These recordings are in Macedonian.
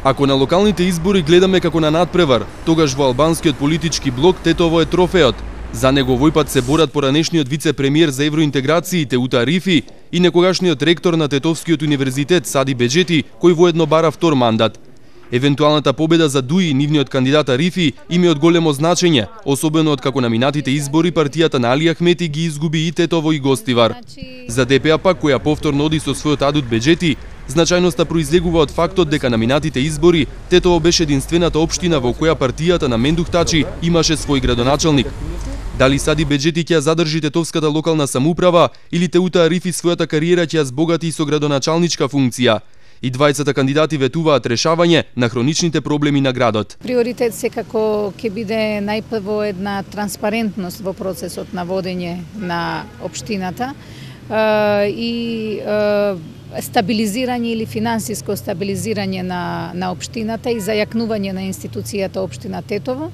Ако на локалните избори гледаме како на надпревар, тогаш во албанскиот политички блок Тетово е трофеот. За него овој пат се борат поранешниот вице-премиер за евроинтеграции Теута Рифи и некогашниот ректор на Тетовскиот универзитет Сади Беџети, кој воедно бара втор мандат. Евентуалната победа за Дуи и нивниот кандидат Рифи им е од големо значење, особено од како на минатите избори партијата на Али Ахмети ги изгуби и Тетово и Гостивар. За ДПА пак, која повторно оди со својот адут Беџети, значајноста произлегува од фактот дека на минатите избори Тетово беше единствената општина во која партијата на Мендух Тачи имаше свој градоначалник. Дали Сади Беџети ќе задржи тетовската локална самоуправа или Теута Рифи својата кариера ќе ја збогати со градоначалничка функција? И двајцата кандидати ветуваат решавање на хроничните проблеми на градот. Приоритет секако ќе биде најпрво една транспарентност во процесот на водење на општината и стабилизирање или финансиско стабилизирање на општината и зајакнување на институцијата општина Тетово.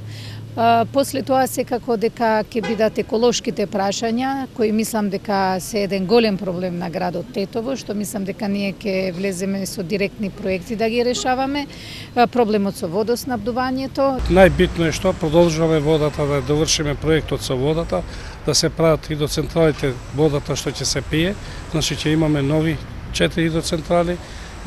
После тоа секако дека ќе бидат еколошките прашања, кои мислам дека се еден голем проблем на градот Тетово, што мислам дека ние ќе влеземе со директни проекти да ги решаваме. Проблемот со водоснабдувањето. Најбитно е што продолжуваме водата, да довршиме проектот со водата, да се прават хидроцентралите, водата што ќе се пие, значи ќе имаме нови 4 хидроцентрали.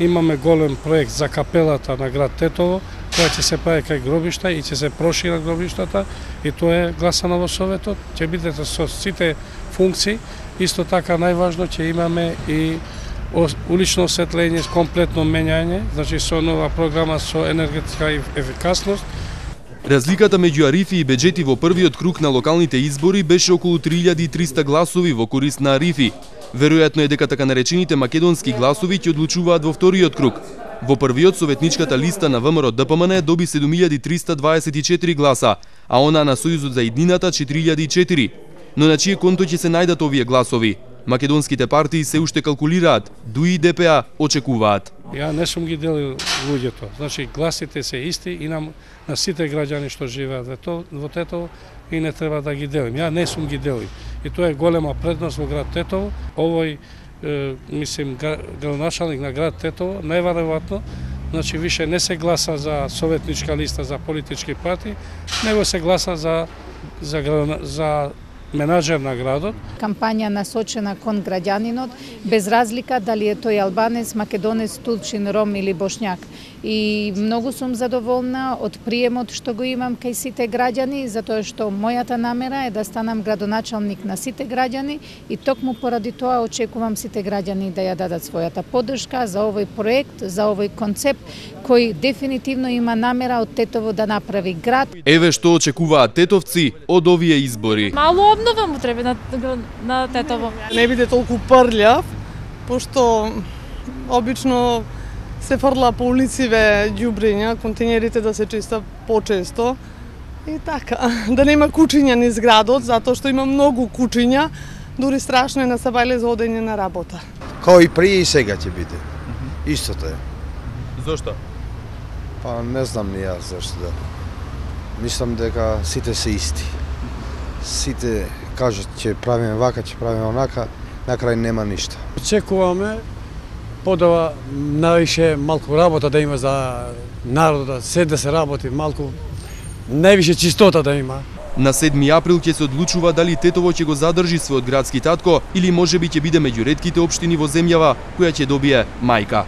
Имаме голем проект за капелата на град Тетово, која ќе се прави кај гробишта и ќе се прошира гробиштата, и тоа е гласано во Советот, ќе бидете со сите функции. Исто така најважно ќе имаме и улично осветлење, комплетно менјање, значи со нова програма со енергетска ефикасност. Разликата меѓу Арифи и Беџети во првиот круг на локалните избори беше околу 3300 гласови во корист на Арифи. Веројатно е дека така наречените македонски гласови ќе одлучуваат во вториот круг. Во првиот советничката листа на ВМРО ДПМН доби 7324 гласа, а она на Сојузот за иднината 4004. Но на чие конто ќе се најдат овие гласови? Македонските партии се уште калкулираат, Дуи и ДПА очекуваат. Ја не сум ги делил луѓето. Значи гласите се исти и на сите граѓани што живеат во Тетово и не треба да ги делим. Ја не сум ги делил. И тоа е голема предност во град Тетово. Овој градоначалник на град Тетово најверојатно значи више не се гласа за советничка листа за политички партии, него се гласа за менаџер на градот. Кампања насочена кон граѓанинот, без разлика дали е тој албанец, македонец, турчин, ром или бошњак. И многу сум задоволна од приемот што го имам кај сите граѓани, затоа што мојата намера е да станам градоначалник на сите граѓани и токму поради тоа очекувам сите граѓани да ја дадат својата поддршка за овој проект, за овој концепт кој дефинитивно има намера од Тетово да направи град. Еве што очекуваат тетовци од овие избори. Мало обнова му треба на Тетово. Не биде толку прљав, пошто обично се фрла по улициве ѓубриња, континерите да се чиста почесто. И така, да нема кучиња низ градот, затоа што има многу кучиња, дури страшно е на Сабајле за одење на работа. Као и прije и сега ќе биде. Истото е. Зошто? Па не знам ни јас зашто да. Мислам дека сите се исти. Сите кажат ќе правиме вака, ќе правиме онака, на крај нема ништо. Очекуваме подава највише малку работа да има за народот, се да се работи малку, највише чистота да има. На 7 април ќе се одлучува дали Тетово ќе го задржи својот градски татко или можеби ќе биде меѓу ретките општини во земјава која ќе добие мајка.